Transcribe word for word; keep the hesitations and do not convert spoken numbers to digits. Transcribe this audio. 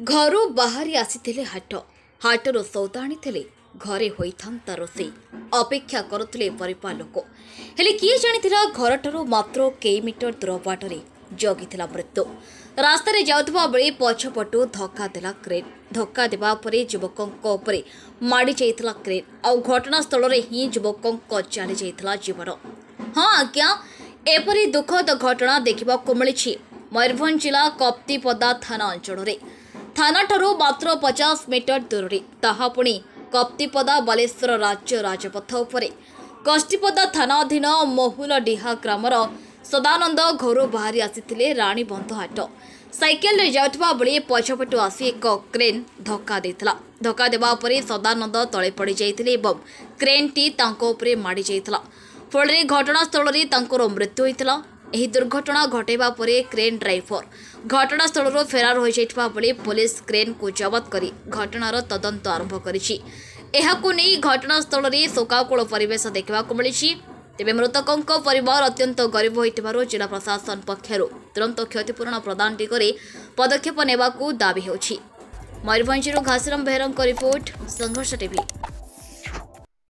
ଘରୁ ବାହାରି ଆସିଥିଲେ ହାଟ, ହାଟରୁ ସଉଦା ଆଣିଥିଲେ, ଘରେ ହୋଇଥାନ୍ତା ରୋଷେଇ, ଅପେକ୍ଷା କରୁଥିଲେ ପରିବାର ଲୋକ। ହେଲେ କିଏ ଜାଣିଥିଲା ଘରଠାରୁ ମାତ୍ର କେଇ ମିଟର ଦୂର ବାଟରେ ଜଗିଥିଲା ମୃତ୍ୟୁ। ରାସ୍ତାରେ ଯାଉଥିବା ବେଳେ ପଛପଟୁ ଧକ୍କା ଦେଲା କ୍ରେନ୍। ଧକ୍କା ଦେବା ପରେ ଯୁବକଙ୍କ ଉପରେ ମାଡ଼ି ଯାଇଥିଲା କ୍ରେନ୍, ଆଉ ଘଟଣାସ୍ଥଳରେ ହିଁ ଯୁବକଙ୍କ ଚାଲି ଯାଇଥିଲା ଜୀବନ। ହଁ ଆଜ୍ଞା, ଏପରି ଦୁଃଖଦ ଘଟଣା ଦେଖିବାକୁ ମିଳିଛି ମୟୂରଭଞ୍ଜ ଜିଲ୍ଲା କପ୍ତିପଦା ଥାନା ଅଞ୍ଚଳରେ। ଥାନାଠାରୁ ମାତ୍ର ପଚାଶ ମିଟର ଦୂରରେ, ତାହା ପୁଣି କପ୍ତିପଦା ବାଲେଶ୍ୱର ରାଜ୍ୟ ରାଜପଥ ଉପରେ। କଷ୍ଟିପଦା ଥାନା ଅଧୀନ ମହୁଲଡିହା ଗ୍ରାମର ସଦାନନ୍ଦ ଘରୁ ବାହାରି ଆସିଥିଲେ ରାଣୀବନ୍ଧ ହାଟ। ସାଇକେଲରେ ଯାଉଥିବା ବେଳେ ପଛପଟୁ ଆସି ଏକ କ୍ରେନ୍ ଧକ୍କା ଦେଇଥିଲା। ଧକ୍କା ଦେବା ପରେ ସଦାନନ୍ଦ ତଳେ ପଡ଼ିଯାଇଥିଲେ ଏବଂ କ୍ରେନ୍ଟି ତାଙ୍କ ଉପରେ ମାଡ଼ି ଯାଇଥିଲା। ଫଳରେ ଘଟଣାସ୍ଥଳରେ ତାଙ୍କର ମୃତ୍ୟୁ ହୋଇଥିଲା। ଏହି ଦୁର୍ଘଟଣା ଘଟାଇବା ପରେ କ୍ରେନ୍ ଡ୍ରାଇଭର ଘଟଣାସ୍ଥଳରୁ ଫେରାର ହୋଇଯାଇଥିବା ବେଳେ ପୋଲିସ କ୍ରେନ୍କୁ ଜବତ କରି ଘଟଣାର ତଦନ୍ତ ଆରମ୍ଭ କରିଛି। ଏହାକୁ ନେଇ ଘଟଣାସ୍ଥଳରେ ଶୋକାକୁଳ ପରିବେଶ ଦେଖିବାକୁ ମିଳିଛି। ତେବେ ମୃତକଙ୍କ ପରିବାର ଅତ୍ୟନ୍ତ ଗରିବ ହୋଇଥିବାରୁ ଜିଲ୍ଲା ପ୍ରଶାସନ ପକ୍ଷରୁ ତୁରନ୍ତ କ୍ଷତିପୂରଣ ପ୍ରଦାନ ଦିଗରେ ପଦକ୍ଷେପ ନେବାକୁ ଦାବି ହେଉଛି। ମୟୂରଭଞ୍ଜରୁ ଘାସିରାମ ବେହେରାଙ୍କ ରିପୋର୍ଟ, ସଂଘର୍ଷ ଟିଭି।